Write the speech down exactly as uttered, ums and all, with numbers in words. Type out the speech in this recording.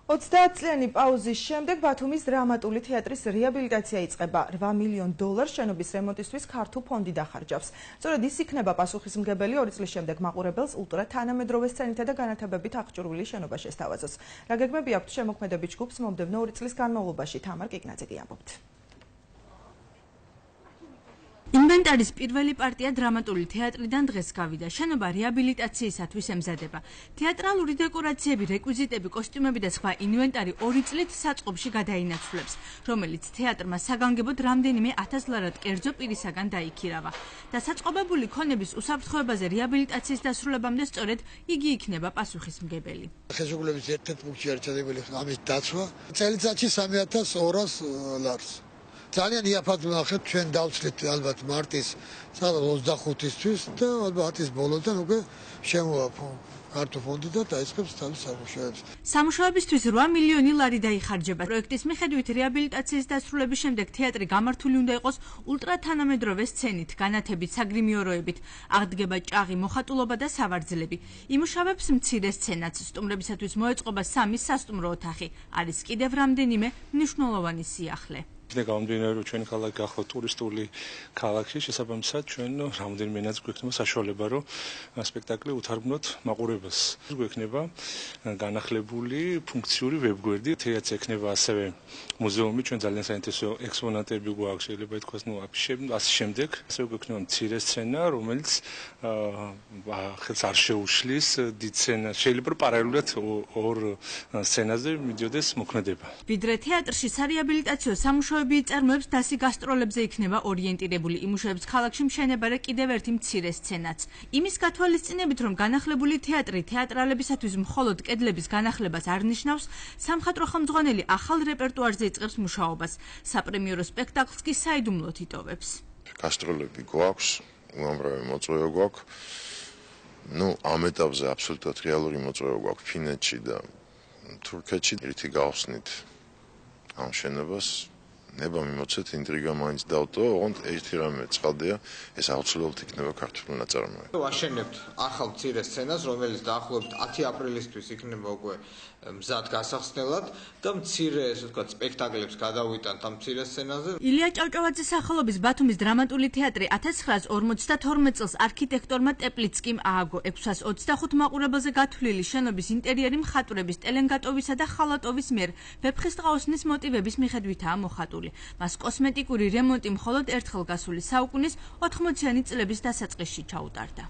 ოცდაათწლიანი პაუზის შემდეგ ბათუმის დრამატული თეატრის რეაბილიტაცია იწყება. რვა მილიონ დოლარს შენობის რემონტისთვის ქართულ ფონდი დახარჯავს. სწორედ ის იქნება პასუხისმგებელი ორი წლის შემდეგ მაყურებელს ულტრა თანამედროვე სცენითა და განათებებით აღჭურვილი შენობა შესთავაზოს. რა გეგმები აქვთ შემოქმედებით ჯგუფს მომდევნო ორი წლის განმავლობაში? თამარ კიკნაძე გიამბობთ. ინვენტარის პირველი პარტია დრამატული თეატრიდან დღეს გავიდა. შენობა რეაბილიტაციისათვის ემზადება. თეატრალური დეკორაციები, რეკვიზიტები, კოსტიუმები და სხვა ინვენტარი ორი წლით საწყობში გადაინაცვლებს, რომელიც თეატრმა საგანგებოდ რამდენიმე ათას ლარად კერძო პირისაგან დაიქირავა. და საწყობებული ქონების უსაფრთხოებაზე რეაბილიტაციის დასრულებამდე სწორედ იგი იქნება პასუხისმგებელი. ხელშეკრულების ერთ-ერთ პუნქტში არის ჩადებული ამის დაცვა. წელიწადში სამი ათას ორას ლარს. ძალიან იაფად ვნახეთ, ჩვენ დავცლით ალბათ მარტის ოცდახუთისთვის და ალბათ ის ბოლოდან უკვე შემოვაფო ქართულ ფონდი და დაიწყებს თავის სამუშაოებს. სამუშაოებისთვის რვა მილიონი ლარი დაიხარჯება. პროექტის მიხედვით რეაბილიტაციის დასრულების შემდეგ თეატრი გამართული უნდა იყოს ულტრა თანამედროვე სცენით, განათებით, საგრიმიოროებით, აღდგება ჭაღი, მოხატულობა და სავარძლები. იმუშავებს მცირე სცენაც, სტუმრებისათვის მოეწყობა სამი სასტუმრო ოთახი. არის კიდევ რამდენიმე მნიშვნელოვანი სიახლე. და გამომდინარე რომ ჩვენი ქალაქი გახლავთ ტურისტული ქალაქი, შესაბამისად ჩვენ რამდენიმეაც გვექნება საშუალება რომ სპექტაკლი უთარგმნოთ მაყურებელს. გვექნება განახლებული ფუნქციური ვებგვერდი, თეატრს ექნება ასევე მუზეუმი, ჩვენ ძალიან საინტერესო ექსპონატები გვაქვს, შეიძლება ითქვას, ნუ აფიშები, ასე შემდეგ. ასევე გვექნება მცირე სცენა, რომელიც ხელს არ შეუშლის დიდ სცენას. შეიძლება პარალელურად ორ სცენაზე მიდიოდეს მოქმედება. ვიდრე თეატრში სარეაბილიტაციო სამუშაოები წარმოებს დასი გასტროლებზე იქნება ორიენტირებული. იმუშავებს ქალაქში მშენება და კიდევ ერთი მცირე სცენაც. იმის გათვალისწინებით, რომ განახლებული თეატრი თეატრალებისათვის მხოლოდ კედლების განახლებას არ ნიშნავს, სამხატვრო ხელმძღვანელი ახალ რეპერტუარზე იწყებს მუშაობას. საპრემიერო სპექტაკლს კი საიდუმლოდ იტოვებს. გასტროლები გვაქვს, უამრავი მოწვევა გვაქვს. ნუ ამ ეტაპზე აბსოლუტურად რეალური მოწვევა გვაქვს ფინეთში და თურქეთში. ერთი გავხსნით ამ შენობას. ნება მიმოცეთ ინტრიგა მაინც დავტოვა, ოღონდ ერთი რამე ცხადია, ეს აუცილებლად იქნება ქართული ნაწარმოები. ვაშენებთ ახალ მცირე სცენას, რომელიც დაახლოებით ათი აპრილისთვის იქნება უკვე მზად გასახსნელად და მცირე, ესე ვთქვათ, სპექტაკლებს გადავიტანთ ამ მცირე სცენაზე. ილია ჭავჭავაძის სახელობის ბათუმის დრამატული თეატრი ათას ცხრაას ორმოცდათორმეტ წელს არქიტექტორმა ტეპლიცკიმ ააგო. ექვსას ოცდახუთ მაყურებელზე გათვლილი შენობის ინტერიერი მხატვრების ტელენგატოვისა და ხალატოვის მიერ ვეფხისტყაოსნის მოტივების მიხედვითაა მოხატული. მას კოსმეტიკური რემონტი მხოლოდ ერთხელ გასული საუკუნის ოთხმოციანი წლების დასაწყისში ჩაუტარდა.